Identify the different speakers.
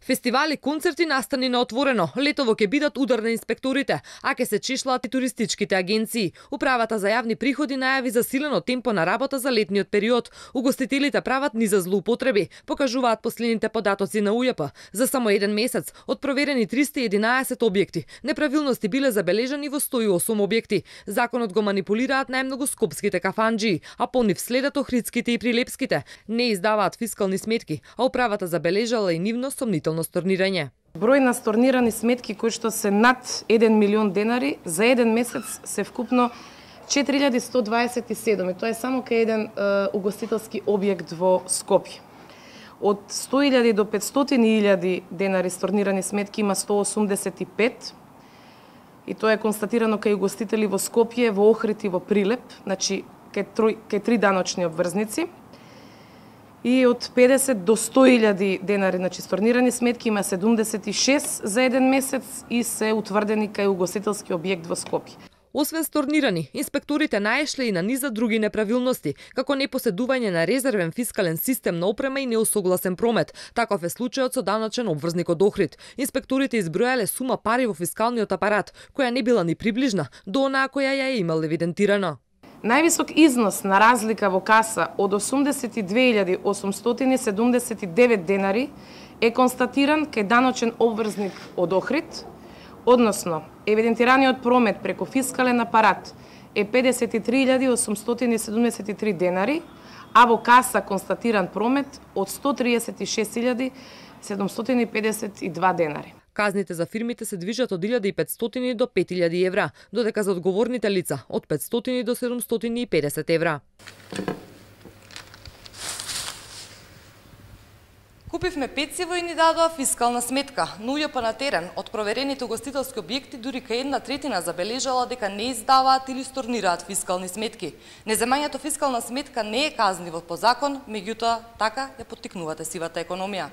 Speaker 1: Фестивали, концерти, настани на отворено. Летово ќе бидат удар на инспекторите, а ќе се чешлаат и туристичките агенции. Управата за јавни приходи најави засилено темпо на работа за летниот период. Угостителите прават низа злоупотреби, покажуваат последните податоци на УЈП. За само еден месец од проверени 311 објекти, неправилности биле забележани во 108 објекти. Законот го манипулираат најмногу скопските кафанџии, а по нив следат охридските и прилепските. Не издаваат фискални сметки, а управата забележала и нивно сомнително stornирање.
Speaker 2: Број на stornирани сметки кои што се над 1 милион денари за еден месец се вкупно 4127 и тоа е само кај еден угостителски објект во Скопје. Од 100.000 до 500.000 денари stornирани сметки има 185 и тоа е констатирано кај угостители во Скопје, во Охрид и во Прилеп, значи кај три даночни обврзници. И од 50 до 100.000 денари, значи stornирани сметки има 76 за еден месец и се утврдени кај угостителски објект во Скопје.
Speaker 1: Освен stornирани, инспекторите наешле и на низа други неправилности, како непоседување на резервен фискален систем на опрема и неусогласен промет. Таков е случајот со даночен обврзник од Охрид. Инспекторите избројале сума пари во фискалниот апарат, која не била ни приближна до онаа која ја е имал евидентирано.
Speaker 2: Највисок износ на разлика во каса од 82.879 денари е констатиран кај даночен обврзник од Охрид, односно евидентираниот промет преку фискален апарат е 53.873 денари, а во каса констатиран промет од 136.752 денари.
Speaker 1: Казните за фирмите се движат од 1.500 до 5.000 евра, додека за одговорните лица од 500 до 750 евра.
Speaker 3: Купивме пecivo и ни дадоа фискална сметка, но УЈП на терен од проверените угостителски објекти дури кај 1/3 забележала дека не издаваат или stornираат фискални сметки. Неземањето фискална сметка не е казниво по закон, меѓутоа така ја поттикнувате сивата економија.